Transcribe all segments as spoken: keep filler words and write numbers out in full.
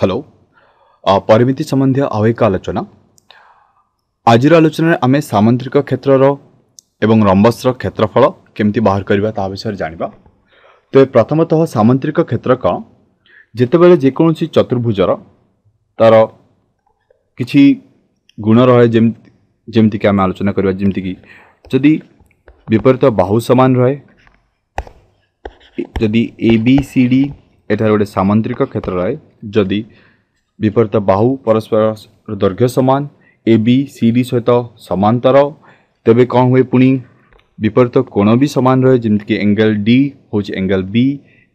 Hello, ପରିମିତି ସମ୍ବନ୍ଧୀୟ ଆଉ ଏକ ଆଲୋଚନା। ଆଜିର ଆଲୋଚନାରେ ଆମେ ସାମୁଦ୍ରିକ କ୍ଷେତ୍ରର ଏବଂ ରମ୍ବସର କ୍ଷେତ୍ରଫଳ କେମିତି ବାହାର କରିବା ତାହା ବିଷୟରେ ଜାଣିବା। ତେବେ ପ୍ରଥମତଃ ସାମୁଦ୍ରିକ କ୍ଷେତ୍ର କ'ଣ? ଯେତେବେଳେ ଯେକୌଣସି ଚତୁର୍ଭୁଜର ତା'ର କିଛି ଗୁଣ ରହେ, ଯେମିତି ଯେମିତିକି ଆମେ ଆଲୋଚନା କରିବା, ଯେମିତିକି ଯଦି ବିପରୀତ ବାହୁ ସମାନ ରହେ, ଯଦି ଏ ବି ସି ଡି ଏଠାରେ ଗୋଟେ ସାମୁଦ୍ରିକ କ୍ଷେତ୍ର ରହେ, ଯଦି ବିପରୀତ ବାହୁ ପରସ୍ପର ଦୈର୍ଘ୍ୟ ସମାନ, ଏ ବି ସି ଡି ସହିତ ସମାନ୍ତର, ତେବେ କ'ଣ ହୁଏ? ପୁଣି ବିପରୀତ କୋଣ ବି ସମାନ ରହେ, ଯେମିତିକି ଏଙ୍ଗେଲ ଡି ହେଉଛି ଏଙ୍ଗେଲ ବି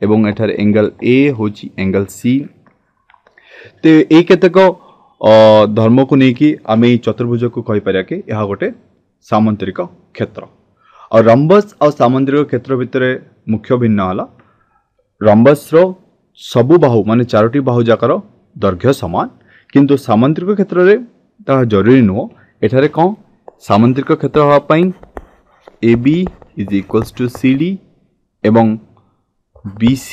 ଏବଂ ଏଠାରେ ଏଙ୍ଗେଲ ଏ ହେଉଛି ଏଙ୍ଗେଲ ସି। ତେବେ ଏଇ କେତେକ ଧର୍ମକୁ ନେଇକି ଆମେ ଏଇ ଚତୁର୍ଭୁଜକୁ କହିପାରିବା କି ଏହା ଗୋଟେ ସାମନ୍ତରିକ କ୍ଷେତ୍ର। ଆଉ ରମ୍ବସ୍ ଆଉ ସାମୁଦ୍ରିକ କ୍ଷେତ୍ର ଭିତରେ ମୁଖ୍ୟ ଭିନ୍ନ ହେଲା, ରମ୍ବସ୍ର ସବୁ ବାହୁ ମାନେ ଚାରୋଟି ବାହୁ ଯାକର ଦୈର୍ଘ୍ୟ ସମାନ, କିନ୍ତୁ ସାମୁଦ୍ରିକ କ୍ଷେତ୍ରରେ ତାହା ଜରୁରୀ ନୁହଁ। ଏଠାରେ କ'ଣ ସାମୁଦ୍ରିକ କ୍ଷେତ୍ର ହେବା ପାଇଁ A B is equals to C D ଏବଂ B C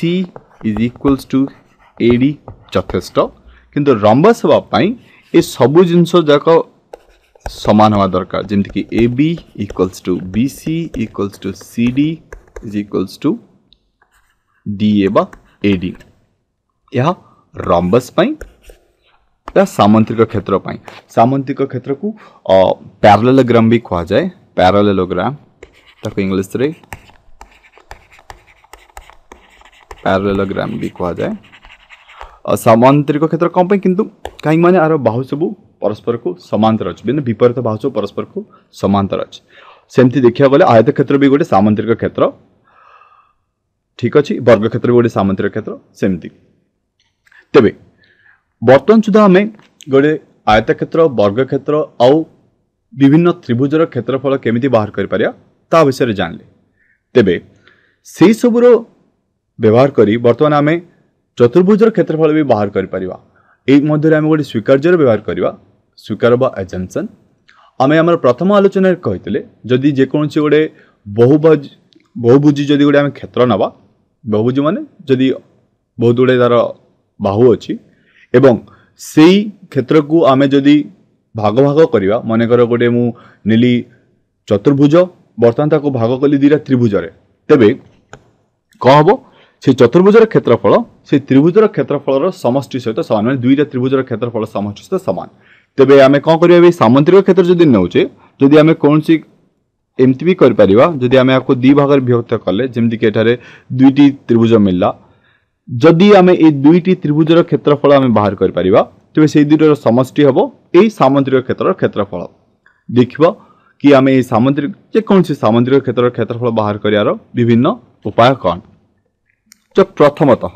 is equals to A D ଯଥେଷ୍ଟ, କିନ୍ତୁ ରମ୍ବସ୍ ହେବା ପାଇଁ ଏ ସବୁ ଜିନିଷ ଯାକ ସମାନ ହେବା ଦରକାର, ଯେମିତିକି A B equals to B C equals to C D is equals to D A ବା ଏ ଡି। ଏହା ରମ୍ବସ୍ ପାଇଁ, ଏହା ସାମୁଦ୍ରିକ କ୍ଷେତ୍ର ପାଇଁ। ସାମୁଦ୍ରିକ କ୍ଷେତ୍ରକୁ ପ୍ୟାରାଲେଲୋଗ୍ରାମ ବି କୁହାଯାଏ, ପ୍ୟାରାଲେଲୋଗ୍ରାମ ତାକୁ ଇଂଲିଶରେ ପ୍ୟାରାଲେଲୋଗ୍ରାମ ବି କୁହାଯାଏ। ସାମୁଦ୍ରିକ କ୍ଷେତ୍ର କ'ଣ ପାଇଁ? କିନ୍ତୁ କାହିଁକି ମାନେ ଆର ବାହୁ ସବୁ ପରସ୍ପରକୁ ସମାନ୍ତର ଅଛି, ମାନେ ବିପରୀତ ବାହୁ ସବୁ ପରସ୍ପରକୁ ସମାନ୍ତର ଅଛି। ସେମିତି ଦେଖିବାକୁ ଗଲେ ଆୟତ କ୍ଷେତ୍ର ବି ଗୋଟେ ସାମୁଦ୍ରିକ କ୍ଷେତ୍ର, ଠିକ୍ ଅଛି, ବର୍ଗ କ୍ଷେତ୍ର ବି ଗୋଟେ ସାମୁଦ୍ରିକ କ୍ଷେତ୍ର ସେମିତି। ତେବେ ବର୍ତ୍ତମାନ ସୁଦ୍ଧା ଆମେ ଗୋଟେ ଆୟତକ୍ଷେତ୍ର, ବର୍ଗକ୍ଷେତ୍ର ଆଉ ବିଭିନ୍ନ ତ୍ରିଭୁଜର କ୍ଷେତ୍ରଫଳ କେମିତି ବାହାର କରିପାରିବା ତା ବିଷୟରେ ଜାଣିଲେ। ତେବେ ସେଇ ସବୁର ବ୍ୟବହାର କରି ବର୍ତ୍ତମାନ ଆମେ ଚତୁର୍ଭୁଜର କ୍ଷେତ୍ରଫଳ ବି ବାହାର କରିପାରିବା। ଏଇ ମଧ୍ୟରେ ଆମେ ଗୋଟେ ସ୍ୱୀକାର୍ଯ୍ୟର ବ୍ୟବହାର କରିବା, ସ୍ୱୀକାର ବା ଏଜମ୍ପସନ୍। ଆମେ ଆମର ପ୍ରଥମ ଆଲୋଚନାରେ କହିଥିଲେ, ଯଦି ଯେକୌଣସି ଗୋଟେ ବହୁଭୁଜ ବହୁଭୁଜି ଯଦି ଗୋଟେ ଆମେ କ୍ଷେତ୍ର ନେବା, ବହୁଭୁଜି ମାନେ ଯଦି ବହୁତ ଗୁଡ଼ିଏ ତା'ର ବାହୁ ଅଛି ଏବଂ ସେଇ କ୍ଷେତ୍ରକୁ ଆମେ ଯଦି ଭାଗ ଭାଗ କରିବା, ମନେକର ଗୋଟେ ମୁଁ ନେଲି ଚତୁର୍ଭୁଜ, ବର୍ତ୍ତମାନ ତାକୁ ଭାଗ କଲି ଦୁଇଟା ତ୍ରିଭୁଜରେ, ତେବେ କ'ଣ ହେବ? ସେ ଚତୁର୍ଭୁଜର କ୍ଷେତ୍ରଫଳ ସେ ତ୍ରିଭୁଜର କ୍ଷେତ୍ରଫଳର ସମଷ୍ଟି ସହିତ ସମାନ, ମାନେ ଦୁଇଟା ତ୍ରିଭୁଜର କ୍ଷେତ୍ରଫଳ ସମଷ୍ଟି ସହିତ ସମାନ। ତେବେ ଆମେ କ'ଣ କରିବା? ଏ ସାମୁଦ୍ରିକ କ୍ଷେତ୍ର ଯଦି ନେଉଛେ, ଯଦି ଆମେ କୌଣସି ଏମିତି ବି କରିପାରିବା, ଯଦି ଆମେ ଏହାକୁ ଦୁଇ ଭାଗରେ ବିଭକ୍ତ କଲେ, ଯେମିତିକି ଏଠାରେ ଦୁଇଟି ତ୍ରିଭୁଜ ମିଳିଲା, ଯଦି ଆମେ ଏଇ ଦୁଇଟି ତ୍ରିଭୁଜର କ୍ଷେତ୍ରଫଳ ଆମେ ବାହାର କରିପାରିବା, ତେବେ ସେଇ ଦୁଇଟିର ସମଷ୍ଟି ହେବ ଏଇ ସାମୁଦ୍ରିକ କ୍ଷେତ୍ରର କ୍ଷେତ୍ରଫଳ। ଦେଖିବା କି ଆମେ ଏଇ ସାମୁଦ୍ରିକ ଯେକୌଣସି ସାମୁଦ୍ରିକ କ୍ଷେତ୍ରର କ୍ଷେତ୍ରଫଳ ବାହାର କରିବାର ବିଭିନ୍ନ ଉପାୟ କ'ଣ। ତ ପ୍ରଥମତଃ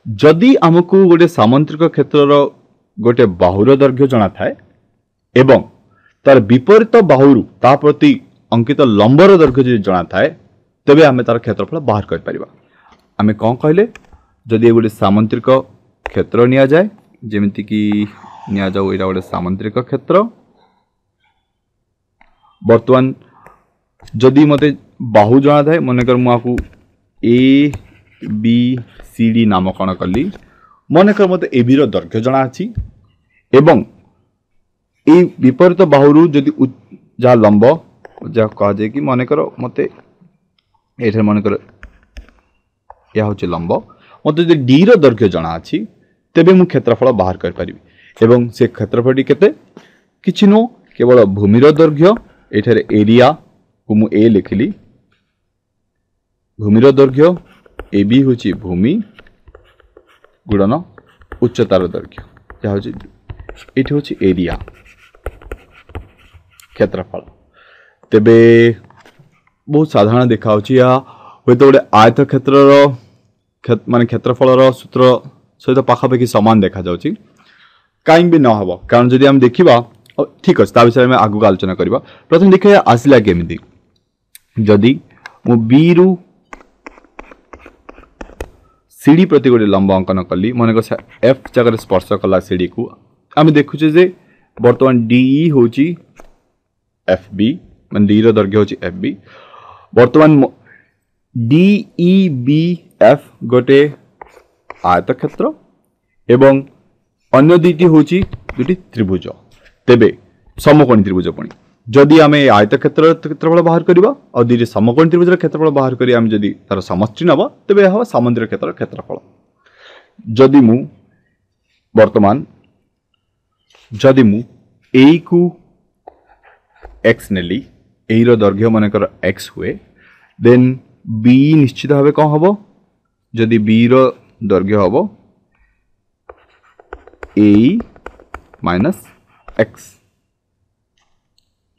ଯଦି ଆମକୁ ଗୋଟେ ସାମୁଦ୍ରିକ କ୍ଷେତ୍ରର ଗୋଟେ ବାହୁର ଦୈର୍ଘ୍ୟ ଜଣାଥାଏ ଏବଂ ତାର ବିପରୀତ ବାହୁରୁ ତା ପ୍ରତି ଅଙ୍କିତ ଲମ୍ବର ଦୈର୍ଘ୍ୟ ଯଦି ଜଣାଥାଏ, ତେବେ ଆମେ ତାର କ୍ଷେତ୍ରଫଳ ବାହାର କରିପାରିବା। ଆମେ କ'ଣ କହିଲେ? ଯଦି ଗୋଟେ ସାମୁଦ୍ରିକ କ୍ଷେତ୍ର ନିଆଯାଏ, ଯେମିତିକି ନିଆଯାଉ ଏଇଟା ଗୋଟେ ସାମୁଦ୍ରିକ କ୍ଷେତ୍ର, ବର୍ତ୍ତମାନ ଯଦି ମୋତେ ବାହୁ ଜଣାଥାଏ, ମନେକର ମୁଁ ଆକୁ ଏ ବି ସି ଡି ନାମକରଣ କଲି, ମନେକର ମୋତେ ଏ ବିର ଦୈର୍ଘ୍ୟ ଜଣାଅଛି ଏବଂ ଏଇ ବିପରୀତ ବାହୁରୁ ଯଦି ଯାହା ଲମ୍ବ ଯାହା କୁହାଯାଏ କି ମନେକର ମୋତେ ଏଠାରେ ମନେକର ଏହା ହେଉଛି ଲମ୍ବ, ମୋତେ ଯଦି ଡିର ଦୈର୍ଘ୍ୟ ଜଣାଅଛି, ତେବେ ମୁଁ କ୍ଷେତ୍ରଫଳ ବାହାର କରିପାରିବି। ଏବଂ ସେ କ୍ଷେତ୍ରଫଳଟି କେତେ? କିଛି ନୁହଁ, କେବଳ ଭୂମିର ଦୈର୍ଘ୍ୟ, ଏଠାରେ ଏରିଆକୁ ମୁଁ ଏ ଲେଖିଲି, ଭୂମିର ଦୈର୍ଘ୍ୟ ଏ ବି ହେଉଛି ଭୂମି ଗୁଣନ ଉଚ୍ଚତାର ଦୈର୍ଘ୍ୟ, ଯାହା ହେଉଛି ଏଇଠି ହେଉଛି ଏରିଆ କ୍ଷେତ୍ରଫଳ। ତେବେ ବହୁତ ସାଧାରଣ ଦେଖାହେଉଛି, ଏହା ହୁଏତ ଗୋଟେ ଆୟତ କ୍ଷେତ୍ରର ମାନେ କ୍ଷେତ୍ରଫଳର ସୂତ୍ର ସହିତ ପାଖାପାଖି ସମାନ ଦେଖାଯାଉଛି, କାହିଁକି ବି ନ ହେବ, କାରଣ ଯଦି ଆମେ ଦେଖିବା, ଠିକ୍ ଅଛି, ତା ବିଷୟରେ ଆମେ ଆଗକୁ ଆଲୋଚନା କରିବା। ପ୍ରଥମେ ଦେଖିବା ଆସିଲା କେମିତି। ଯଦି ମୁଁ ବିରୁ ସିଡ଼ି ପ୍ରତି ଗୋଟେ ଲମ୍ବ ଅଙ୍କନ କଲି, ମନେକର ଏଫ୍ ଜାଗାରେ ସ୍ପର୍ଶ କଲା ସିଡ଼ିକୁ, ଆମେ ଦେଖୁଛେ ଯେ ବର୍ତ୍ତମାନ ଡିଇ ହେଉଛି ଏଫ୍ ବି, ମାନେ ଡିର ଦୈର୍ଘ୍ୟ ହେଉଛି ଏଫ୍ ବି। ବର୍ତ୍ତମାନ ଡିଇ ବି ଏଫ୍ ଗୋଟେ ଆୟତକ୍ଷେତ୍ର ଏବଂ ଅନ୍ୟ ଦୁଇଟି ହେଉଛି ଦୁଇଟି ତ୍ରିଭୁଜ ତେବେ ସମକୋଣୀ ତ୍ରିଭୁଜ ପୁଣି ଯଦି ଆମେ ଆୟତକ୍ଷେତ୍ରର କ୍ଷେତ୍ରଫଳ ବାହାର କରିବା ଆଉ ଦୁଇଟି ସମକୋଣୀ ତ୍ରିଭୁଜର କ୍ଷେତ୍ରଫଳ ବାହାର କରି ଆମେ ଯଦି ତାର ସମଷ୍ଟି ନେବା ତେବେ ଏହା ହେବ ସାମନ୍ତରିକ କ୍ଷେତ୍ରର କ୍ଷେତ୍ରଫଳ ଯଦି ମୁଁ ବର୍ତ୍ତମାନ ଯଦି ମୁଁ ଏଇକୁ ଏକ୍ସ ନେଲି ଏଇର ଦୈର୍ଘ୍ୟ ମନେକର ଏକ୍ସ ହୁଏ ଦେନ୍ ବି ନିଶ୍ଚିତ ଭାବେ କ'ଣ ହେବ ଯଦି ବିର ଦୈର୍ଘ୍ୟ ହେବ ଏ ମାଇନସ୍ ଏକ୍ସ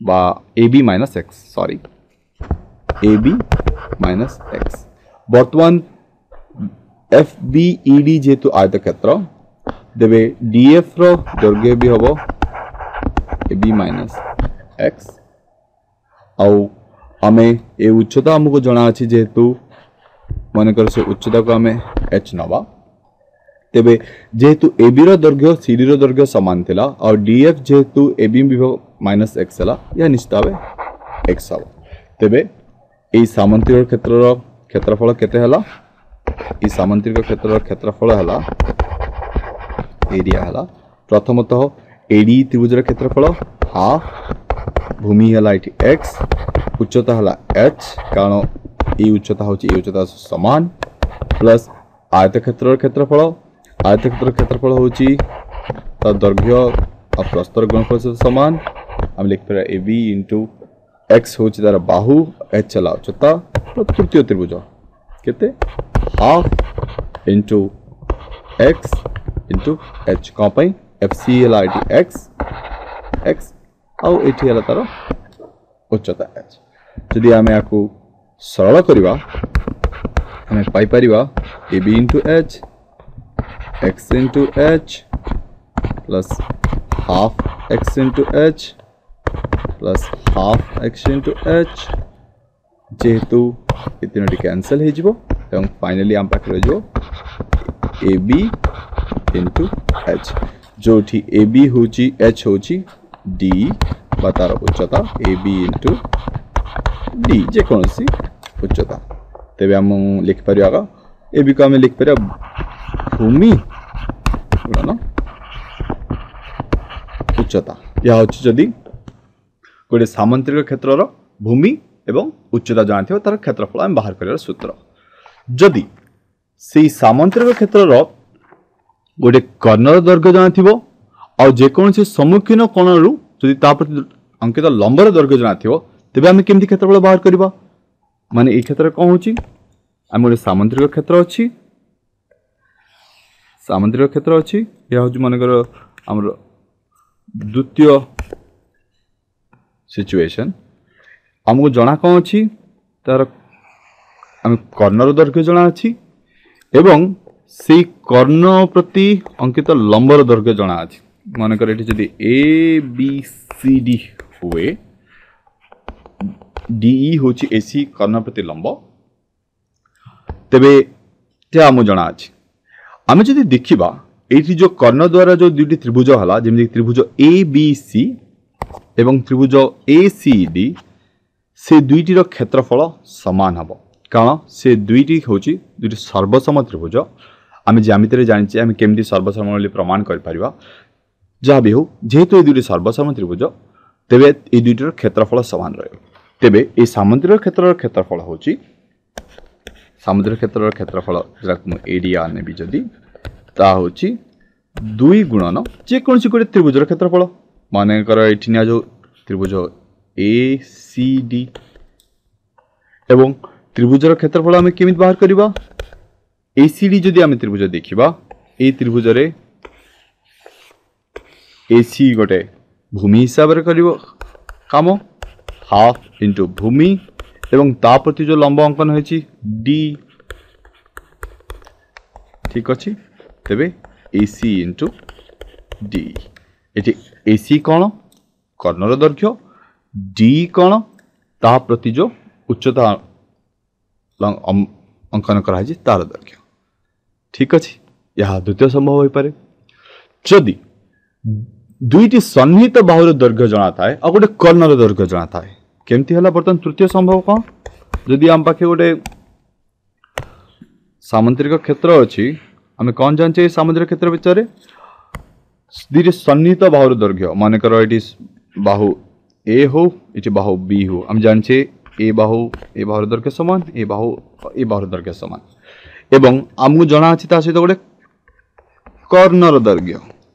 ବା A B minus X sorry A B minus X ବର୍ତ୍ତମାନ ଏଫ୍ ବି ଇ ଡି ଯେହେତୁ ଆୟତକ୍ଷେତ୍ର ତେବେ ଡି ଏଫ୍ ର ଦୈର୍ଘ୍ୟ ବି ହେବ ଏ ବି ମାଇନସ୍ ଏକ୍ସ ଆଉ ଆମେ ଏ ଉଚ୍ଚତା ଆମକୁ ଜଣା ଅଛି ଯେହେତୁ ମନେକର ସେ ଉଚ୍ଚତାକୁ ଆମେ ଏଚ୍ ନେବା ତେବେ ଯେହେତୁ ଏ ବିର ଦୈର୍ଘ୍ୟ ସି ଡିର ଦୈର୍ଘ୍ୟ ସମାନ ଥିଲା ଆଉ ଡି ଏଫ୍ ଯେହେତୁ ଏ ବି ବିଭବ ମାଇନସ୍ ଏକ୍ସ ହେଲା ଏହା ନିଶ୍ଚିତ ଭାବେ ଏକ୍ସ ହେବ ତେବେ ଏଇ ସାମନ୍ତରିକ କ୍ଷେତ୍ରର କ୍ଷେତ୍ରଫଳ କେତେ ହେଲା ଏଇ ସାମନ୍ତରିକ କ୍ଷେତ୍ରର କ୍ଷେତ୍ରଫଳ ହେଲା ଏରିଆ ହେଲା ପ୍ରଥମତଃ ଏଡି ତ୍ରିଭୁଜର କ୍ଷେତ୍ରଫଳ ହାଫ୍ ଭୂମି ହେଲା ଏଠି ଏକ୍ସ ଉଚ୍ଚତା ହେଲା ଏଚ୍ କାରଣ ଏଇ ଉଚ୍ଚତା ହେଉଛି ଏଇ ଉଚ୍ଚତା ସମାନ ପ୍ଲସ୍ ଆୟତକ୍ଷେତ୍ରର କ୍ଷେତ୍ରଫଳ ଆୟତକ୍ଷେତ୍ରର କ୍ଷେତ୍ରଫଳ ହେଉଛି ତା ଦୈର୍ଘ୍ୟ ଆଉ ପ୍ରସ୍ଥର ଗୁଣଫଳ ସହିତ ସମାନ ଆମେ ଲେଖିପାରିବା ଏ ବି ଇଣ୍ଟୁ ଏକ୍ସ ହେଉଛି ତାର ବାହୁ ଏଚ୍ ହେଲା ଉଚ୍ଚତା ତୃତୀୟ ତ୍ରିଭୁଜ କେତେ half into X into H କ'ଣ ପାଇଁ ଏଫ୍ ସି ହେଲା ଏଠି ଏକ୍ସ ଏକ୍ସ ଆଉ ଏଠି ହେଲା ତାର ଉଚ୍ଚତା ଏଚ୍ ଯଦି ଆମେ ୟାକୁ ସରଳ କରିବା ଆମେ ପାଇପାରିବା A B into H X into H plus half X into H plus half X into H ଯେହେତୁ ଏ ତିନୋଟି କ୍ୟାନସେଲ୍ ହେଇଯିବ ଏବଂ ଫାଇନାଲି ଆମ ପାଖରେ ରହିଯିବ ଏ ବି ଇଣ୍ଟୁ ଏଚ୍ ଯେଉଁଠି ଏ ବି ହେଉଛି ଏଚ୍ ହେଉଛି ଡି ବା ତାର ଉଚ୍ଚତା ଏ ବି ଇଣ୍ଟୁ ଡି ଯେକୌଣସି ଉଚ୍ଚତା ତେବେ ଆମେ ଲେଖିପାରିବା ଏ ବିକୁ ଆମେ ଲେଖିପାରିବା ଭୂମି ଗୁଣନ ଉଚ୍ଚତା ଏହା ହେଉଛି ଯଦି ଗୋଟିଏ ସାମନ୍ତରିକ କ୍ଷେତ୍ରର ଭୂମି ଏବଂ ଉଚ୍ଚତା ଜଣାଥିବ ତାର କ୍ଷେତ୍ରଫଳ ଆମେ ବାହାର କରିବାର ସୂତ୍ର ଯଦି ସେଇ ସାମନ୍ତରିକ କ୍ଷେତ୍ରର ଗୋଟେ କର୍ଣ୍ଣର ଦୈର୍ଘ୍ୟ ଜଣାଥିବ ଆଉ ଯେକୌଣସି ସମ୍ମୁଖୀନ କୋଣରୁ ଯଦି ତା ପ୍ରତି ଅଙ୍କିତ ଲମ୍ବର ଦୈର୍ଘ୍ୟ ଜଣାଥିବ ତେବେ ଆମେ କେମିତି କ୍ଷେତ୍ରଫଳ ବାହାର କରିବା ମାନେ ଏଇ କ୍ଷେତ୍ରରେ କ'ଣ ହେଉଛି ଆମେ ଗୋଟେ ସାମନ୍ତରିକ କ୍ଷେତ୍ର ଅଛି ସାମନ୍ତରିକ କ୍ଷେତ୍ର ଅଛି ଏହା ହେଉଛି ମନେକର ଆମର ଦ୍ୱିତୀୟ ସିଚୁଏସନ୍ ଆମକୁ ଜଣା କ'ଣ ଅଛି ତାର ଆମେ କର୍ଣ୍ଣର ଦୈର୍ଘ୍ୟ ଜଣା ଅଛି ଏବଂ ସେଇ କର୍ଣ୍ଣ ପ୍ରତି ଅଙ୍କିତ ଲମ୍ବର ଦୈର୍ଘ୍ୟ ଜଣା ଅଛି ମନେକର ଏଠି ଯଦି ଏ ବି ସି ଡି ହୁଏ ଡିଇ ହେଉଛି ଏସି କର୍ଣ୍ଣ ପ୍ରତି ଲମ୍ବ ତେବେ ଏହା ଆମକୁ ଜଣା ଅଛି ଆମେ ଯଦି ଦେଖିବା ଏଇଠି ଯେଉଁ କର୍ଣ୍ଣ ଦ୍ୱାରା ଯେଉଁ ଦୁଇଟି ତ୍ରିଭୁଜ ହେଲା ଯେମିତି ତ୍ରିଭୁଜ ଏ ବି ସି ଏବଂ ତ୍ରିଭୁଜ ଏ ସି ଡି ସେ ଦୁଇଟିର କ୍ଷେତ୍ରଫଳ ସମାନ ହେବ କାରଣ ସେ ଦୁଇଟି ହେଉଛି ଦୁଇଟି ସର୍ବସମ ତ୍ରିଭୁଜ ଆମେ ଜ୍ୟାମିତିରେ ଜାଣିଛେ ଆମେ କେମିତି ସର୍ବସମ ବୋଲି ପ୍ରମାଣ କରିପାରିବା ଯାହା ବି ହେଉ ଯେହେତୁ ଏ ଦୁଇଟି ସର୍ବସମ ତ୍ରିଭୁଜ ତେବେ ଏଇ ଦୁଇଟିର କ୍ଷେତ୍ରଫଳ ସମାନ ରହିବ ତେବେ ଏଇ ସାମନ୍ତରିକ କ୍ଷେତ୍ରର କ୍ଷେତ୍ରଫଳ ହେଉଛି ସାମନ୍ତରିକ କ୍ଷେତ୍ରର କ୍ଷେତ୍ରଫଳ ଯାହାକୁ ମୁଁ ଏରିଆ ନେବି ଯଦି ତାହା ହେଉଛି ଦୁଇ ଗୁଣନ ଯେକୌଣସି ଗୋଟେ ତ୍ରିଭୁଜର କ୍ଷେତ୍ରଫଳ ମନେକର ଏଇଠି ନିଆଯାଉ ତ୍ରିଭୁଜ ଏ ସି ଡି ଏବଂ ତ୍ରିଭୁଜର କ୍ଷେତ୍ରଫଳ ଆମେ କେମିତି ବାହାର କରିବା ଏ ସି ଡି ଯଦି ଆମେ ତ୍ରିଭୁଜ ଦେଖିବା ଏଇ ତ୍ରିଭୁଜରେ ଏ ସି ଗୋଟେ ଭୂମି ହିସାବରେ କରିବ କାମ ହାଫ୍ ଇଣ୍ଟୁ ଭୂମି ଏବଂ ତା ପ୍ରତି ଯେଉଁ ଲମ୍ବ ଅଙ୍କନ ହେଇଛି ଡି ଠିକ୍ ଅଛି ତେବେ ଏ ସି ଇଣ୍ଟୁ ଡି ଏଠି ଏ ସି କ'ଣ କର୍ଣ୍ଣର ଦୈର୍ଘ୍ୟ ଡି କ'ଣ ତା ପ୍ରତି ଯେଉଁ ଉଚ୍ଚତା ଅଙ୍କନ କରାହେଇଛି ତାର ଦୈର୍ଘ୍ୟ ଠିକ୍ ଅଛି ଏହା ଦ୍ୱିତୀୟ ସମ୍ଭବ ହୋଇପାରେ ଯଦି ଦୁଇଟି ସନ୍ନିହିତ ବାହୁର ଦୈର୍ଘ୍ୟ ଜଣା ଥାଏ ଆଉ ଗୋଟେ କର୍ଣ୍ଣର ଦୈର୍ଘ୍ୟ ଜଣା ଥାଏ କେମିତି ହେଲା ବର୍ତ୍ତମାନ ତୃତୀୟ ସମ୍ଭବ କ'ଣ ଯଦି ଆମ ପାଖେ ଗୋଟେ ସାମନ୍ତରିକ କ୍ଷେତ୍ର ଅଛି ଆମେ କ'ଣ ଜାଣିଛେ ଏଇ ସାମୁଦ୍ରିକ କ୍ଷେତ୍ର ବିଷୟରେ? ଦୁଇଟି ସନ୍ନିହିତ ବାହୁର ଦୈର୍ଘ୍ୟ, ମନେକର ଏଠି ବାହୁ ଏ ହଉ, ଏଠି ବାହୁ ବି ହଉ, ଆମେ ଜାଣିଛେ ଏ ବାହୁ ଏ ବାହୁର ଦୈର୍ଘ୍ୟ ସମାନ, ଏ ବାହୁ ଏ ବାହୁର ଦୈର୍ଘ୍ୟ ସମାନ, ଏବଂ ଆମକୁ ଜଣା ଅଛି ତା ସହିତ ଗୋଟେ କର୍ଣ୍ଣର ଦୈର୍ଘ୍ୟ,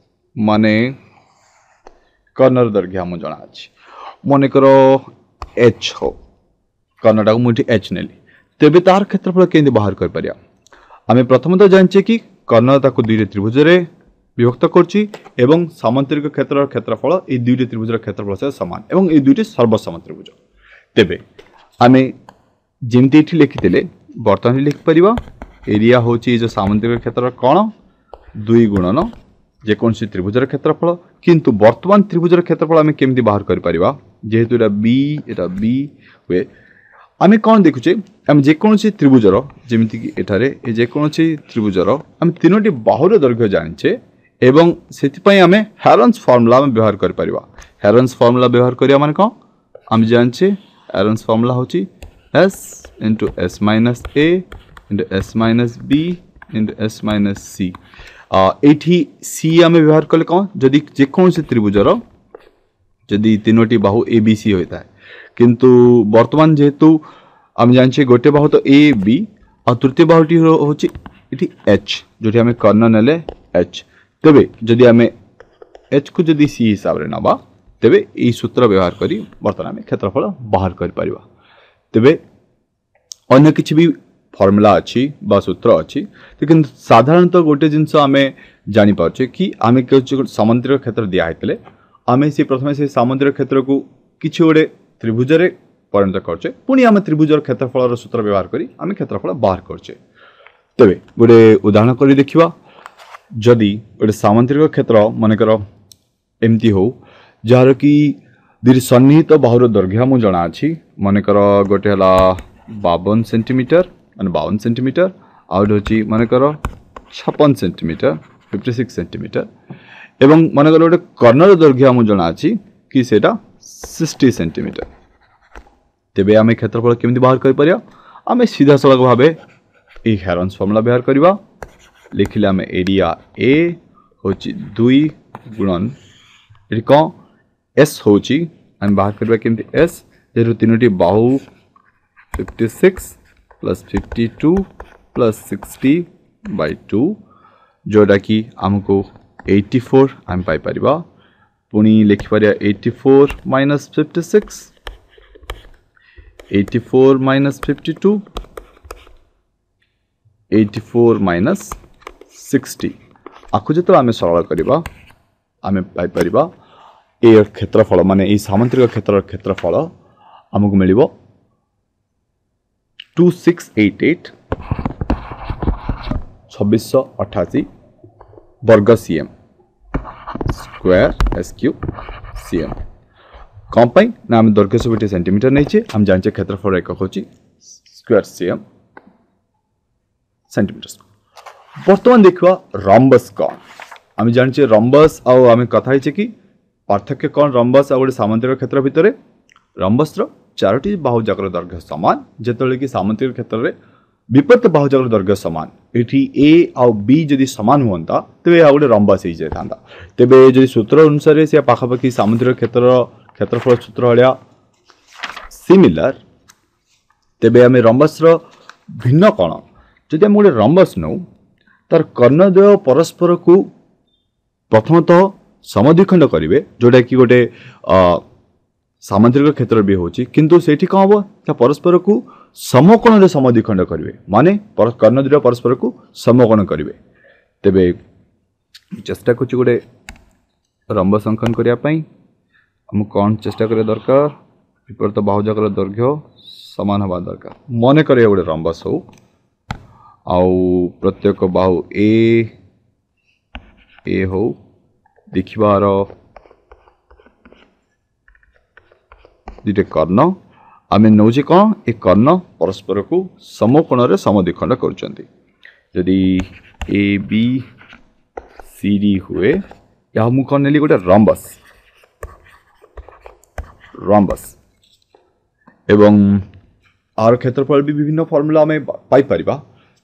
ମାନେ କର୍ଣ୍ଣର ଦୈର୍ଘ୍ୟ ଆମକୁ ଜଣା ଅଛି, ମନେକର ଏଚ୍ ହଉ, କର୍ଣ୍ଣଟାକୁ ମୁଁ ଏଠି ଏଚ୍ ନେଲି, ତେବେ ତାର କ୍ଷେତ୍ରଫଳ କେମିତି ବାହାର କରିପାରିବା? ଆମେ ପ୍ରଥମତଃ ଜାଣିଛେ କି କର୍ଣ୍ଣ ତାକୁ ଦୁଇଟି ତ୍ରିଭୁଜରେ ବିଭକ୍ତ କରୁଛି ଏବଂ ସାମନ୍ତରିକ କ୍ଷେତ୍ରର କ୍ଷେତ୍ରଫଳ ଏଇ ଦୁଇଟି ତ୍ରିଭୁଜର କ୍ଷେତ୍ରଫଳ ସହିତ ସମାନ ଏବଂ ଏଇ ଦୁଇଟି ସର୍ବସମ ତ୍ରିଭୁଜ। ତେବେ ଆମେ ଯେମିତି ଏଠି ଲେଖିଥିଲେ ବର୍ତ୍ତମାନ ଲେଖିପାରିବା ଏରିଆ ହେଉଛି ଏଇ ଯେଉଁ ସାମନ୍ତରିକ କ୍ଷେତ୍ରର କଣ ଦୁଇ ଗୁଣନ ଯେକୌଣସି ତ୍ରିଭୁଜର କ୍ଷେତ୍ରଫଳ। କିନ୍ତୁ ବର୍ତ୍ତମାନ ତ୍ରିଭୁଜର କ୍ଷେତ୍ରଫଳ ଆମେ କେମିତି ବାହାର କରିପାରିବା? ଯେହେତୁ ଏଇଟା ବି ଏଇଟା ବି ହୁଏ, ଆମେ କ'ଣ ଦେଖୁଛେ? ଆମେ ଯେକୌଣସି ତ୍ରିଭୁଜର, ଯେମିତିକି ଏଠାରେ ଏ ଯେକୌଣସି ତ୍ରିଭୁଜର ଆମେ ତିନୋଟି ବାହୁର ଦୈର୍ଘ୍ୟ ଜାଣିଛେ ଏବଂ ସେଥିପାଇଁ ଆମେ ହ୍ୟାରନ୍ସ ଫର୍ମୁଲା ଆମେ ବ୍ୟବହାର କରିପାରିବା। ହ୍ୟାରନ୍ସ ଫର୍ମୁଲା ବ୍ୟବହାର କରିବା ମାନେ କ'ଣ? ଆମେ ଜାଣିଛେ ହ୍ୟାରନ୍ସ ଫର୍ମୁଲା ହେଉଛି S into S minus A into S minus B into S minus C. ଏଇଠି ସି ଆମେ ବ୍ୟବହାର କଲେ କ'ଣ? ଯଦି ଯେକୌଣସି ତ୍ରିଭୁଜର ଯଦି ତିନୋଟି ବାହୁ ଏ ବି ସି ହୋଇଥାଏ, କିନ୍ତୁ ବର୍ତ୍ତମାନ ଯେହେତୁ ଆମେ ଜାଣିଛେ ଗୋଟେ ବାହୁ ତ ଏ ବି ଆଉ ତୃତୀୟ ବାହୁଟି ହେଉଛି ଏଠି ଏଚ୍, ଯେଉଁଠି ଆମେ କର୍ଣ୍ଣ ନେଲେ ଏଚ୍, ତେବେ ଯଦି ଆମେ ଏଚ୍କୁ ଯଦି ସି ହିସାବରେ ନେବା ତେବେ ଏଇ ସୂତ୍ର ବ୍ୟବହାର କରି ବର୍ତ୍ତମାନ ଆମେ କ୍ଷେତ୍ରଫଳ ବାହାର କରିପାରିବା। ତେବେ ଅନ୍ୟ କିଛି ବି ଫର୍ମୁଲା ଅଛି ବା ସୂତ୍ର ଅଛି, କିନ୍ତୁ ସାଧାରଣତଃ ଗୋଟେ ଜିନିଷ ଆମେ ଜାଣିପାରୁଛେ କି ଆମେ କିଛି ସାମନ୍ତରିକ କ୍ଷେତ୍ର ଦିଆ ହେଇଥିଲେ ଆମେ ସେ ପ୍ରଥମେ ସେ ସାମନ୍ତରିକ କ୍ଷେତ୍ରକୁ କିଛି ଗୋଟେ ତ୍ରିଭୁଜରେ ପରିଣତ କରୁଛେ, ପୁଣି ଆମେ ତ୍ରିଭୁଜର କ୍ଷେତ୍ରଫଳର ସୂତ୍ର ବ୍ୟବହାର କରି ଆମେ କ୍ଷେତ୍ରଫଳ ବାହାର କରୁଛେ। ତେବେ ଗୋଟେ ଉଦାହରଣ କରି ଦେଖିବା। ଯଦି ଗୋଟେ ସାମନ୍ତରିକ କ୍ଷେତ୍ର ମନେକର ଏମିତି ହଉ ଯାହାର କି ଦୁଇଟି ସନ୍ନିହିତ ବାହୁର ଦୈର୍ଘ୍ୟ ମୁଁ ଜଣା ଅଛି, ମନେକର ଗୋଟେ ହେଲା ବାବନ ସେଣ୍ଟିମିଟର ମାନେ ବାଉନ ସେଣ୍ଟିମିଟର, ଆଉ ଗୋଟେ ହେଉଛି ମନେକର ଛପନ ସେଣ୍ଟିମିଟର ଫିଫ୍ଟି ସିକ୍ସ ସେଣ୍ଟିମିଟର, ଏବଂ ମନେକର ଗୋଟେ କର୍ଣ୍ଣର ଦୈର୍ଘ୍ୟ ଆମକୁ ଜଣା ଅଛି କି ସେଇଟା ସିକ୍ସଟି ସେଣ୍ଟିମିଟର, ତେବେ ଆମେ କ୍ଷେତ୍ରଫଳ କେମିତି ବାହାର କରିପାରିବା? ଆମେ ସିଧାସଳଖ ଭାବେ ଏଇ ହ୍ୟାରନ୍ସ ଫର୍ମୁଲା ବ୍ୟବହାର କରିବା। ଲେଖିଲେ ଆମେ ଏରିଆ ଏ ହେଉଛି ଦୁଇ ଗୁଣନ ଏଠି କ'ଣ ଏସ୍ ହେଉଛି, ଆମେ ବାହାର କରିବା କେମିତି ଏସ୍, ଯେହେତୁ ତିନୋଟି ବାହୁ fifty six plus fifty two plus sixty by two, ଯେଉଁଟାକି ଆମକୁ ଏଇଟି ଫୋର୍ ଆମେ ପାଇପାରିବା। ପୁଣି ଲେଖିପାରିବା eighty four minus fifty six, eighty four minus fifty two, eighty four minus sixty. ଆକୁ ଯେତେବେଳେ ଆମେ ସରଳ କରିବା ଆମେ ପାଇପାରିବା ଏ କ୍ଷେତ୍ରଫଳ ମାନେ ଏଇ ସାମନ୍ତରିକ କ୍ଷେତ୍ରର କ୍ଷେତ୍ରଫଳ ଆମକୁ ମିଳିବ ଟୁ ସିକ୍ସ ଏଇଟ୍ ଏଇଟ୍ ଛବିଶଶହ ଅଠାଅଶୀ ବର୍ଗ C M square S cube C M. କ'ଣ ପାଇଁ ନା ଆମେ ଦୈର୍ଘ୍ୟ ସବୁ ଏଠି ସେଣ୍ଟିମିଟର ନେଇଛେ, ଆମେ ଜାଣିଛେ କ୍ଷେତ୍ରଫଳ ଏକକ ହେଉଛି ସ୍କୋୟାର ସି ଏମ୍ ସେଣ୍ଟିମିଟର। ବର୍ତ୍ତମାନ ଦେଖିବା ରମ୍ବସ୍ କ'ଣ। ଆମେ ଜାଣିଛେ ରମ୍ବସ୍, ଆଉ ଆମେ କଥା ହେଇଛେ କି ପାର୍ଥକ୍ୟ କ'ଣ ରମ୍ବସ୍ ଆଉ ଗୋଟେ ସାମନ୍ତରିକ କ୍ଷେତ୍ର ଭିତରେ। ରମ୍ବସ୍ର ଚାରୋଟି ବାହୁ ଯାକର ଦୈର୍ଘ୍ୟ ସମାନ, ଯେତେବେଳେ କି ସାମନ୍ତରିକ କ୍ଷେତ୍ରରେ ବିପରୀତ ବାହୁ ଯାକର ଦୈର୍ଘ୍ୟ ସମାନ। ଏଠି ଏ ଆଉ ବି ଯଦି ସମାନ ହୁଅନ୍ତା ତେବେ ଏହା ଗୋଟେ ରମ୍ବସ୍ ହେଇଯାଇଥାନ୍ତା। ତେବେ ଯଦି ସୂତ୍ର ଅନୁସାରେ ସେ ପାଖାପାଖି ସାମନ୍ତରିକ କ୍ଷେତ୍ରର କ୍ଷେତ୍ରଫଳ ସୂତ୍ର ଭଳିଆ ସିମିଲାର, ତେବେ ଆମେ ରମ୍ବସ୍ର ଭିନ୍ନ କ'ଣ? ଯଦି ଆମେ ଗୋଟେ ରମ୍ବସ୍ ନେଉ ତାର କର୍ଣ୍ଣଦ୍ୱୟ ପରସ୍ପରକୁ ପ୍ରଥମତଃ ସମଦ୍ୱିଖଣ୍ଡ କରିବେ, ଯେଉଁଟାକି ଗୋଟେ ସାମନ୍ତରିକ କ୍ଷେତ୍ର ବି ହେଉଛି, କିନ୍ତୁ ସେଇଠି କ'ଣ ହେବ ତା ପରସ୍ପରକୁ ସମକୋଣରେ ସମଦ୍ୱିଖଣ୍ଡ କରିବେ, ମାନେ କର୍ଣ୍ଣ ଦୁଇଟା ପରସ୍ପରକୁ ସମକୋଣ କରିବେ। ତେବେ ଚେଷ୍ଟା କରୁଛି ଗୋଟେ ରମ୍ବସ୍ ଅଙ୍କନ କରିବା ପାଇଁ। ଆମକୁ କ'ଣ ଚେଷ୍ଟା କରିବା ଦରକାର? ବିପରୀତ ବାହୁଯାକର ଦୈର୍ଘ୍ୟ ସମାନ ହେବା ଦରକାର। ମନେ କରିବା ଗୋଟେ ରମ୍ବସ୍ ହଉ, ଆଉ ପ୍ରତ୍ୟେକ ବାହୁ ଏ ଏ ହଉ, ଦେଖିବାର ଦୁଇଟା କର୍ଣ୍ଣ ଆମେ ନେଉଛେ କ'ଣ ଏ କର୍ଣ୍ଣ ପରସ୍ପରକୁ ସମକୋଣରେ ସମଦ୍ୱିଖଣ୍ଡ କରୁଛନ୍ତି। ଯଦି ଏ ବି ସି ଡି ହୁଏ, ଏହା ମୁଁ କ'ଣ ନେଲି ଗୋଟେ ରମ୍ବସ୍ ରମ୍ବସ୍, ଏବଂ ଆର କ୍ଷେତ୍ରଫଳ ବି ବିଭିନ୍ନ ଫର୍ମୁଲା ଆମେ ପାଇପାରିବା।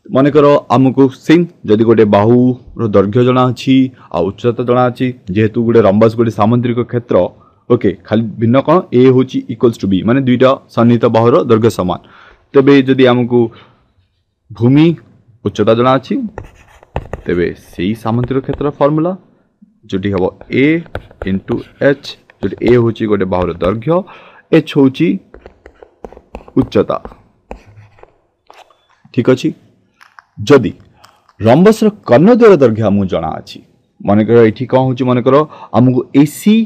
ମନେକର ଆମକୁ ସେମ୍ ଯଦି ଗୋଟେ ବାହୁର ଦୈର୍ଘ୍ୟ ଜଣା ଅଛି ଆଉ ଉଚ୍ଚତା ଜଣା ଅଛି, ଯେହେତୁ ଗୋଟେ ରମ୍ବସ୍ ଗୋଟେ ସାମୁଦ୍ରିକ କ୍ଷେତ୍ର, ଓକେ, ଖାଲି ଭିନ୍ନ କ'ଣ ଏ ହେଉଛି ଇକ୍ୱାଲ୍ସ ଟୁ ବି, ମାନେ ଦୁଇଟା ସନ୍ନିହିତ ବାହୁର ଦୈର୍ଘ୍ୟ ସମାନ। ତେବେ ଯଦି ଆମକୁ ଭୂମି ଉଚ୍ଚତା ଜଣା ଅଛି, ତେବେ ସେଇ ସାମୁଦ୍ରିକ କ୍ଷେତ୍ର ଫର୍ମୁଲା ଯେଉଁଠି ହେବ ଏ ଇଣ୍ଟୁ ଏଚ୍, ଯେଉଁଠି ଏ ହେଉଛି ଗୋଟେ ବାହୁର ଦୈର୍ଘ୍ୟ, ଏଚ୍ ହେଉଛି ଉଚ୍ଚତା। ଠିକ୍ ଅଛି। ଯଦି ରମ୍ବସର କର୍ଣ୍ଣଦ୍ୱୟର ଦୈର୍ଘ୍ୟ ଆମକୁ ଜଣା ଅଛି, ମନେକର ଏଠି କ'ଣ ହେଉଛି, ମନେକର ଆମକୁ ଏସି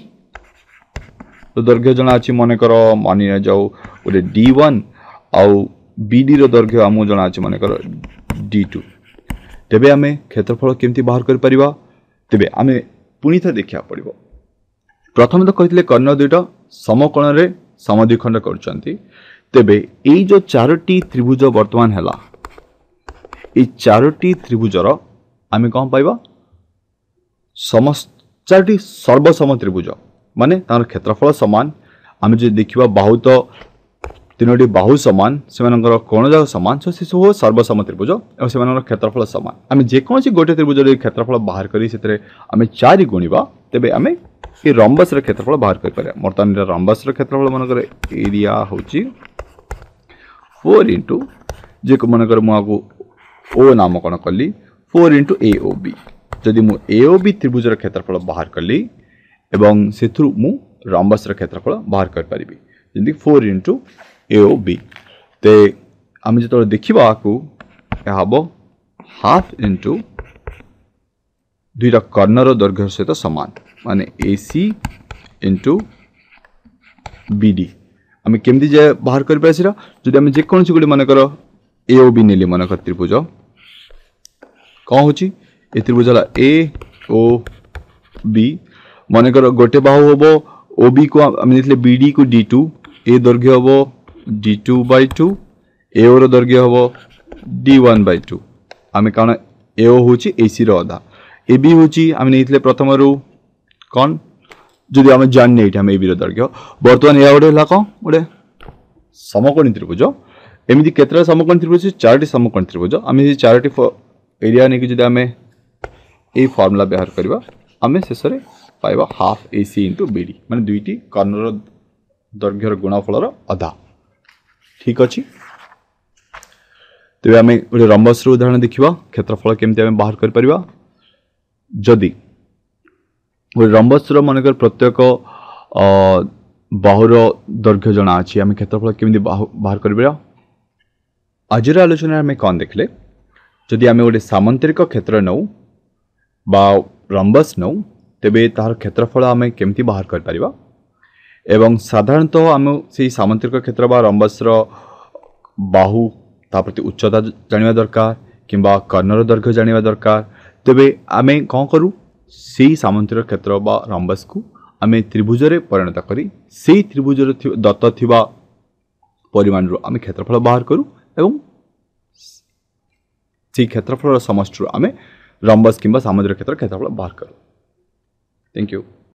ଦୈର୍ଘ୍ୟ ଜଣା ଅଛି, ମନେକର ମାନି ନିଆଯାଉ ଗୋଟେ ଡି ୱାନ୍, ଆଉ ବିଡ଼ିର ଦୈର୍ଘ୍ୟ ଆମକୁ ଜଣା ଅଛି ମନେକର ଡି ଟୁ, ତେବେ ଆମେ କ୍ଷେତ୍ରଫଳ କେମିତି ବାହାର କରିପାରିବା? ତେବେ ଆମେ ପୁଣି ଥରେ ଦେଖିବାକୁ ପଡ଼ିବ। ପ୍ରଥମେ ତ କହିଥିଲେ କର୍ଣ୍ଣ ଦୁଇଟା ସମକୋଣରେ ସମଦ୍ୱିଖଣ୍ଡ କରୁଛନ୍ତି। ତେବେ ଏଇ ଯେଉଁ ଚାରୋଟି ତ୍ରିଭୁଜ ବର୍ତ୍ତମାନ ହେଲା, ଏଇ ଚାରୋଟି ତ୍ରିଭୁଜର ଆମେ କ'ଣ ପାଇବା? ସମସ୍ତ ଚାରୋଟି ସର୍ବସମ ତ୍ରିଭୁଜ, ମାନେ ତାଙ୍କର କ୍ଷେତ୍ରଫଳ ସମାନ। ଆମେ ଯଦି ଦେଖିବା ବାହୁ ତ ତିନୋଟି ବାହୁ ସମାନ, ସେମାନଙ୍କର କୋଣ ଯାକ ସମାନ, ସୋ ସେସବୁ ସର୍ବସମ ତ୍ରିଭୁଜ ଏବଂ ସେମାନଙ୍କର କ୍ଷେତ୍ରଫଳ ସମାନ। ଆମେ ଯେକୌଣସି ଗୋଟିଏ ତ୍ରିଭୁଜର କ୍ଷେତ୍ରଫଳ ବାହାର କରି ସେଥିରେ ଆମେ ଚାରି ଗୁଣିବା, ତେବେ ଆମେ ଏ ରମ୍ବସର କ୍ଷେତ୍ରଫଳ ବାହାର କରିପାରିବା। ବର୍ତ୍ତମାନ ଏଇଟା ରମ୍ବସର କ୍ଷେତ୍ରଫଳ ମନେକର ଏରିଆ ହେଉଛି ଫୋର୍ ଇଣ୍ଟୁ, ଯେ ମନେକର ମୁଁ ଆକୁ ଓ ନାମକରଣ କଲି, ଫୋର୍ ଇଣ୍ଟୁ ଏ ଓ ବି। ଯଦି ମୁଁ ଏ ଓ ବି ତ୍ରିଭୁଜର କ୍ଷେତ୍ରଫଳ ବାହାର କଲି ଏବଂ ସେଥିରୁ ମୁଁ ରମ୍ବସର କ୍ଷେତ୍ରଫଳ ବାହାର କରିପାରିବି, ଯେମିତି ଫୋର୍ ଇଣ୍ଟୁ ଏ ଓ ବି। ତେ ଆମେ ଯେତେବେଳେ ଦେଖିବା ଆକୁ, ଏହା ହେବ ହାଫ୍ ଇଣ୍ଟୁ ଦୁଇଟା କର୍ଣ୍ଣର ଦୈର୍ଘ୍ୟ ସହିତ ସମାନ, ମାନେ A C into B D. ଆମେ କେମିତି ଯେ ବାହାର କରିପାରିବା ସେଇଟା? ଯଦି ଆମେ ଯେକୌଣସି ଗୋଟେ ମନେକର ଏ ଓ ବି ନେଲି, ମନେକର ତ୍ରିଭୁଜ କ'ଣ ହେଉଛି, ଏ ତ୍ରିଭୁଜ ହେଲା ଏ ଓ ବି। ମନେକର ଗୋଟେ ବାହୁ ହେବ ଓ ବି କୁ ଆମେ ନେଇଥିଲେ ବି ଡି କୁ ଡି ଟୁ, ଏ ଦୈର୍ଘ୍ୟ ହେବ ଡି ଟୁ ବାଇ ଟୁ, ଏ ଓର ଦୈର୍ଘ୍ୟ ହେବ ଡି ୱାନ୍ ବାଇ ଟୁ। ଆମେ କାରଣ ଏ ଓ ହେଉଛି ଏ ସିର ଅଧା, ଏ ବି ହେଉଛି ଆମେ ନେଇଥିଲେ ପ୍ରଥମରୁ କ'ଣ, ଯଦି ଆମେ ଜାଣିନେ ଏଇଠି ଆମେ ଏ ବିର ଦୈର୍ଘ୍ୟ। ବର୍ତ୍ତମାନ ଏହା ଗୋଟେ ହେଲା କ'ଣ ଗୋଟେ ସମକୋଣୀ ତ୍ରିଭୁଜ। ଏମିତି କେତେଟା ସମକୋଣୀ ତ୍ରିଭୁଜ? ଚାରୋଟି ସମକୋଣୀ ତ୍ରିଭୁଜ। ଆମେ ସେ ଚାରୋଟି ଏରିଆ ନେଇକି ଯଦି ଆମେ ଏଇ ଫର୍ମୁଲା ବ୍ୟବହାର କରିବା, ଆମେ ଶେଷରେ ପାଇବା half A C into B D, ମାନେ ଦୁଇଟି କର୍ଣ୍ଣର ଦୈର୍ଘ୍ୟର ଗୁଣଫଳର ଅଧା। ଠିକ୍ ଅଛି। ତେବେ ଆମେ ଗୋଟେ ରମ୍ବସର ଉଦାହରଣ ଦେଖିବା, କ୍ଷେତ୍ରଫଳ କେମିତି ଆମେ ବାହାର କରିପାରିବା। ଯଦି ଗୋଟେ ରମ୍ବସର ମନେକର ପ୍ରତ୍ୟେକ ବାହୁର ଦୈର୍ଘ୍ୟ ଜଣା ଅଛି, ଆମେ କ୍ଷେତ୍ରଫଳ କେମିତି ବାହାର କରିପାରିବା? ଆଜିର ଆଲୋଚନାରେ ଆମେ କ'ଣ ଦେଖିଲେ? ଯଦି ଆମେ ଗୋଟେ ସାମନ୍ତରିକ କ୍ଷେତ୍ର ନେଉ ବା ରମ୍ବସ୍ ନେଉ, ତେବେ ତାହାର କ୍ଷେତ୍ରଫଳ ଆମେ କେମିତି ବାହାର କରିପାରିବା, ଏବଂ ସାଧାରଣତଃ ଆମେ ସେଇ ସାମନ୍ତରିକ କ୍ଷେତ୍ର ବା ରମ୍ବସ୍ର ବାହୁ ତା ପ୍ରତି ଉଚ୍ଚତା ଜାଣିବା ଦରକାର କିମ୍ବା କର୍ଣ୍ଣର ଦୈର୍ଘ୍ୟ ଜାଣିବା ଦରକାର। ତେବେ ଆମେ କ'ଣ କରୁ? ସେଇ ସାମନ୍ତରିକ କ୍ଷେତ୍ର ବା ରମ୍ବସ୍କୁ ଆମେ ତ୍ରିଭୁଜରେ ପରିଣତ କରି ସେଇ ତ୍ରିଭୁଜର ଦତ୍ତ ଥିବା ପରିମାଣରୁ ଆମେ କ୍ଷେତ୍ରଫଳ ବାହାର କରୁ ଏବଂ ସେଇ କ୍ଷେତ୍ରଫଳର ସମଷ୍ଟିରୁ ଆମେ ରମ୍ବସ୍ କିମ୍ବା ସାମୁଦ୍ରିକ କ୍ଷେତ୍ର କ୍ଷେତ୍ରଫଳ ବାହାର କରୁ। Thank you.